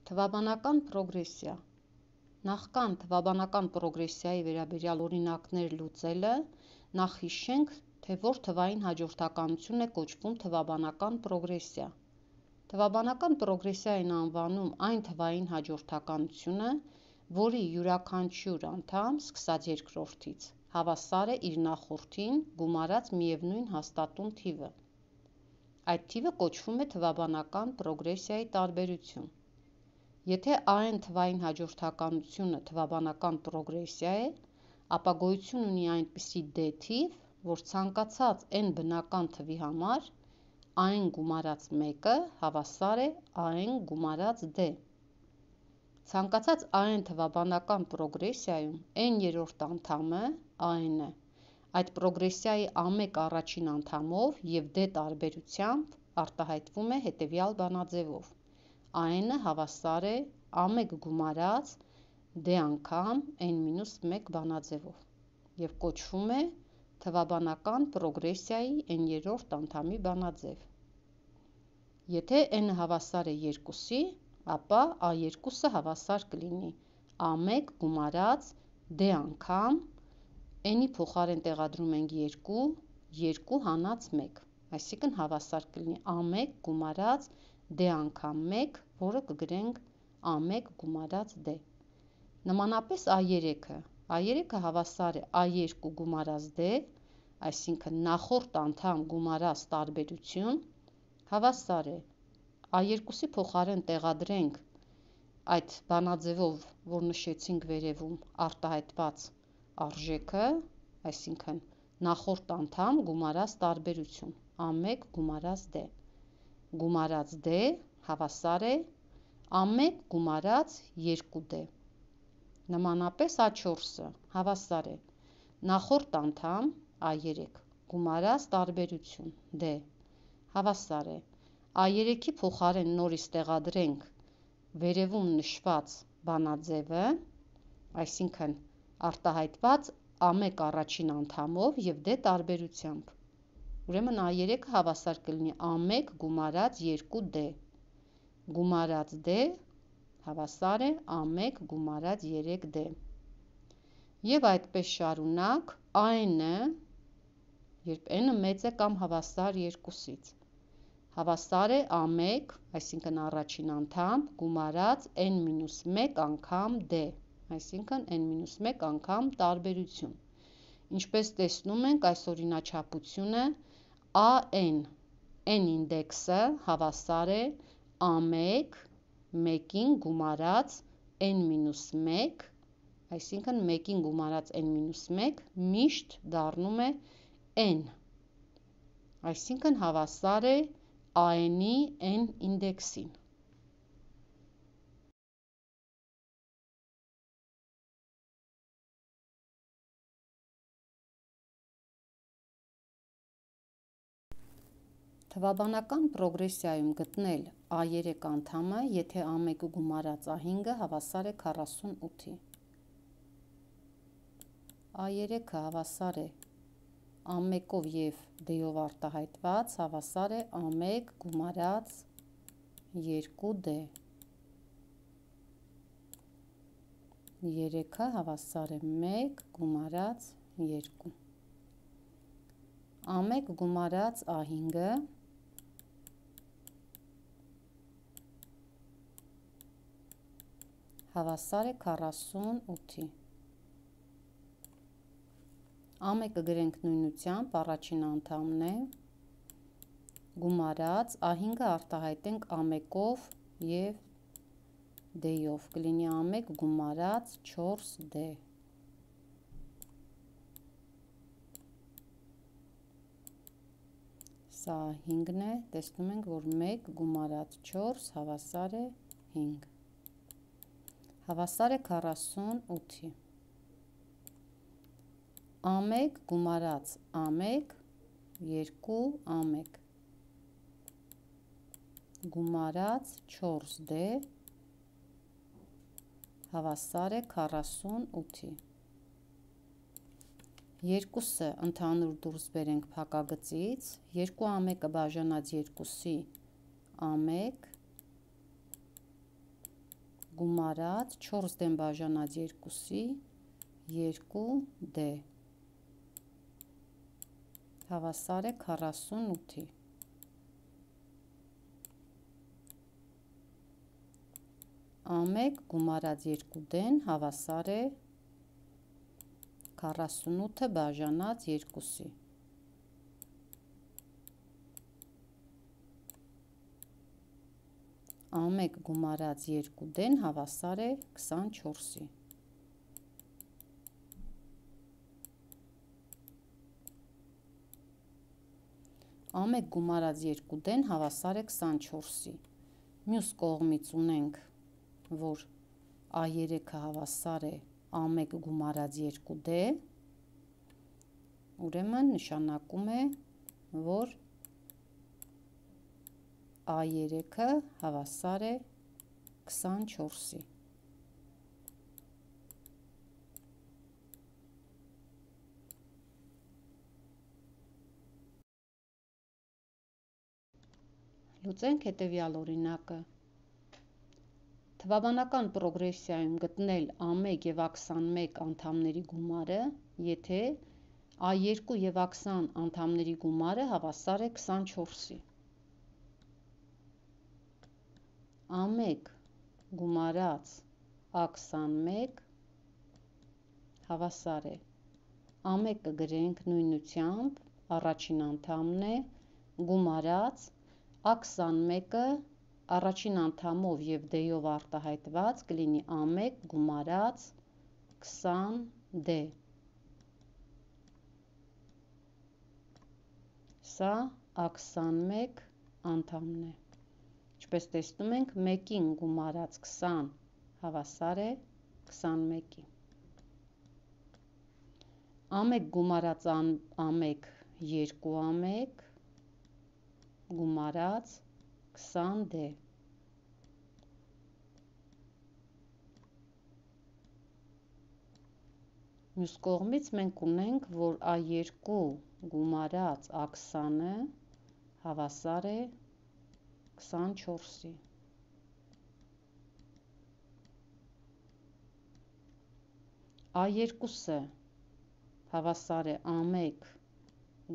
Թվաբանական պրոգրեսիա։ Նախքան թվաբանական պրոգրեսիայի վերաբերյալ օրինակներ լուծելը, նախ հիշենք, թե որ թվային հաջորդականություն է կոչվում թվաբանական պրոգրեսիա։ Թվաբանական պրոգրեսիա են անվանում այն թվային հաջորդականությունը, որի յուրաքանչյուր անդամ, սկսած երկրորդից, հավասար է իր նախորդին գումարած միևնույն հաստատուն թիվը։ Այդ թիվը կոչվում է թվաբանական պրոգրեսիայի տարբերություն։ Եթե AN թվային հաջորդականությունը թվաբանական պրոգրեսիա է, ապա գոյություն ունի այնպիսի D թիվ, որ ցանկացած n բնական թվի համար AN գումարած 1-ը հավասար է AN գումարած D։ Ցանկացած AN թվաբանական պրոգրեսիայում n-երորդ անդամը AN է, այդ պրոգրեսիայի A1 առաջին անդամով և D տարբերությամբ արտահայտվում է հետևյալ բանաձևով. AN-ը հավասար է A1 գումարած D անգամ n-1 բանաձևով և կոչվում է թվաբանական պրոգրեսիայի n-երորդ անդամի բանաձև։ Եթե n-ը հավասար է 2-ի, ապա A2-ը հավասար կլինի A1 գումարած D անգամ n-ի փոխարեն տեղադրում ենք 2, 2 հանած 1, այսինքն հավասար կլինի A1 գումարած D անգամ 1, որը կգրենք A1 գումարած D։ Նմանապես A3-ը հավասար է A2 գումարած D, այսինքն նախորդ անդամ գումարած տարբերություն, հավասար է A2-ի փոխարեն տեղադրենք այդ բանաձևով, որ նշեցինք վերևում, արտահայտված արժեքը, այսինքն նախորդ անդամ գումարած տարբերություն A1 գումարած D, գումարած D հավասար է A1 գումարած 2D։ Նմանապես A4-ը հավասար է նախորդ անդամ A3 գումարած տարբերություն D, հավասար է A3-ի փոխարեն նորից տեղադրենք վերևում նշված բանաձևը, այսինքն արտահայտված A1 առաջին անդամով և D տարբերությամբ, ուրեմն A3-ը հավասար կլինի A1 գումարած 2D, գումարած D հավասար է A1 գումարած 3D։ Եվ այդպես շարունակ AN-ը, երբ n-ը մեծ է կամ հավասար 2-ից, հավասար է A1, այսինքն առաջին անդամ, գումարած n-1 անգամ D, այսինքն n-1 անգամ տարբերություն։ Ինչպես տեսնում ենք այս օրինաչափությունը, AN n ինդեքսը հավասար է A1 1-ին գումարած n-1, այսինքն 1-ին գումարած n-1 միշտ դառնում է n, այսինքն հավասար է AN-ի n ինդեքսին։ Թվաբանական պրոգրեսիայում գտնել A3 անդամը, եթե A1 գումարած A5-ը հավասար է 48-ի։ A3-ը հավասար է A1-ով և D-ով արտահայտված, հավասար է A1 գումարած 2D։ 3-ը հավասար է 1 գումարած 2։ A1 գումարած A5-ը հավասար է 48-ի։ A1-ը գրենք նույնությամբ, առաջին անդամն է, գումարած, A5-ը արտահայտենք A1-ով և D-ով, կլինի A1 գումարած 4D։ Սա 5-ն է, տեսնում ենք, որ 1 գումարած 4 հավասար է 5, հավասար է 48-ի։ A1 գումարած A1, 2 A1, գումարած 4D, հավասար է 48-ի։ 2-ը ընդհանուր դուրս բերենք փակագծից, 2 A1-ը բաժանած 2-ի A1, գումարած 4 դեմ բաժանած 2-ի 2D հավասար է 48-ի։ A1 գումարած 2D-ն հավասար է 48-ը բաժանած 2-ի։ A1 գումարած 2D-ն հավասար է 24-ի։ A1 գումարած 2D-ն հավասար է 24-ի։ Մյուս կողմից ունենք, որ A3-ը հավասար է A1 գումարած 2D, ուրեմն նշանակում է, որ A3-ը հավասար է 24-ի։ Լուծենք հետևյալ օրինակը։ Թվաբանական պրոգրեսիայում գտնել A1 և A21 անդամների գումարը, եթե A2 և A20 անդամների գումարը հավասար է 24-ի։ A1 գումարած A21 հավասար է։ A1-ը գրենք նույնությամբ, առաջին անդամն է, գումարած A21-ը առաջին անդամով և D-ով արտահայտված կլինի A1 գումարած 20D։ Սա A21 անդամն է։ Ինչպես տեսնում ենք, 1-ին գումարած 20 հավասար է 21-ի։ A1 գումարած A1 2A1 գումարած 20D։ Մյուս կողմից մենք ունենք, որ A2 գումարած A20-ը հավասար է 24-ի։ A2-ը հավասար է A1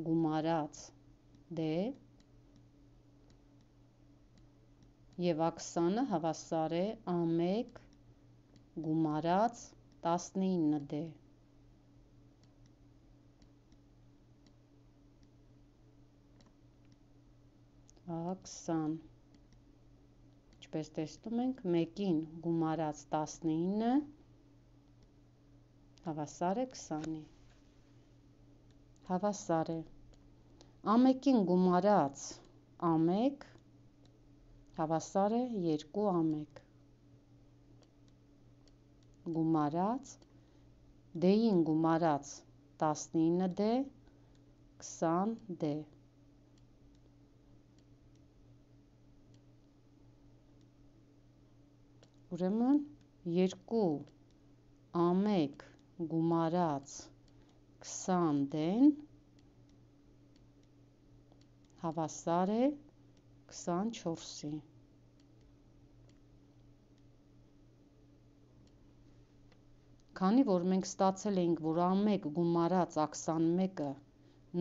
գումարած D և A20-ը հավասար է A1 գումարած 19D։ A20, ինչպես տեսնում ենք, 1-ին գումարած 19-ը հավասար է 20-ի։ Հավասար է։ A1-ին գումարած A1 հավասար է 2A1 գումարած D-ին գումարած 19D 20D։ Ուրեմն 2A1 գումարած 20D-ն հավասար է 24-ի։ Քանի որ մենք ստացել էինք, որ A1 գումարած A21-ը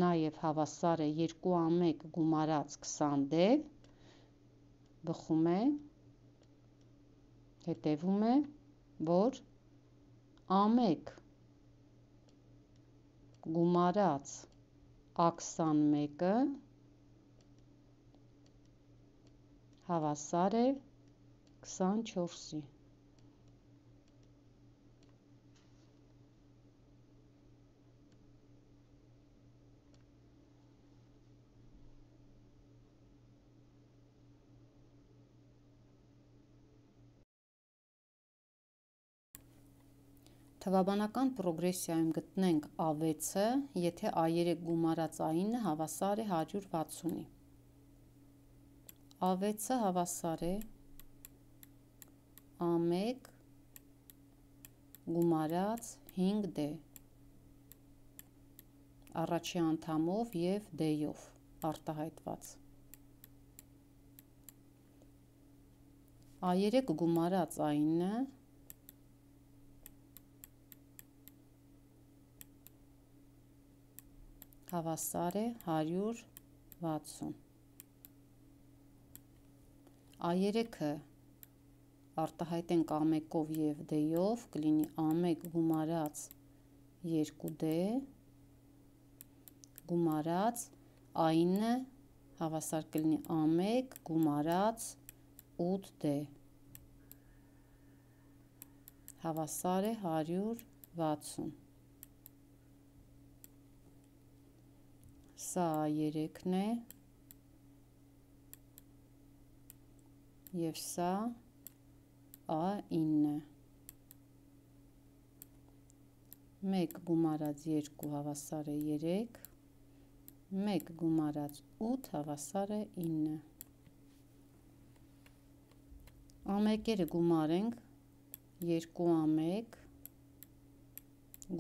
նաև հավասար է 2A1 գումարած 20D, բխում է, հետևում է, որ A1 գումարած A21-ը հավասար է 24-ի։ Թվաբանական պրոգրեսիայում գտնենք A6-ը, եթե A3 գումարած A9-ը հավասար է 160-ի։ A6-ը հավասար է A1 գումարած 5D առաջի անդամով և D-ով արտահայտված։ A3 գումարած A9 հավասար է 160։ A3-ը արտահայտենք A1-ով և D-ով, կլինի A1 գումարած 2D գումարած A9 հավասար կլինի A1 գումարած 8D հավասար է 160։ Սա A3-ն է և սա A9-ը։ 1 գումարած 2 հավասար է 3, 1 գումարած 8 հավասար է 9։ A1-երը գումարենք 2A1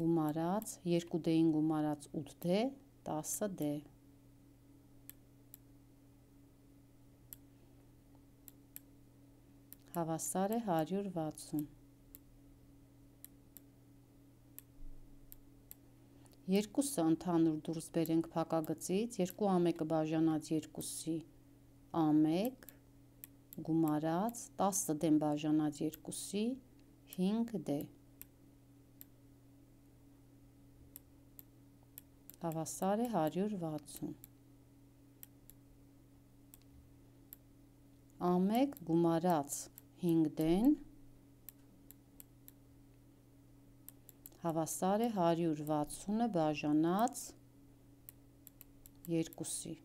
գումարած 2D-ին գումարած 8D 10D հավասար է 160։ Երկուսը ընդհանուր դուրս բերենք փակագծից, 2A1-ը բաժանած 2-ի A1 գումարած 10D-ն բաժանած 2-ի 5D հավասար է 160։ A1 գումարած 5D-ն հավասար է 160-ը բաժանած 2-ի։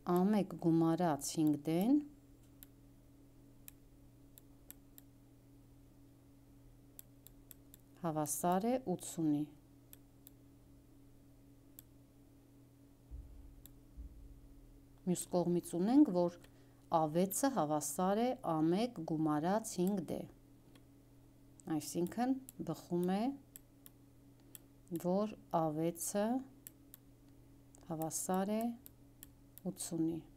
A1 գումարած 5D-ն հավասար է 80-ի։ Մյուս կողմից ունենք, որ A6-ը հավասար է A1 գումարած 5D, այսինքն բխում է, որ A6-ը հավասար է 80-ի։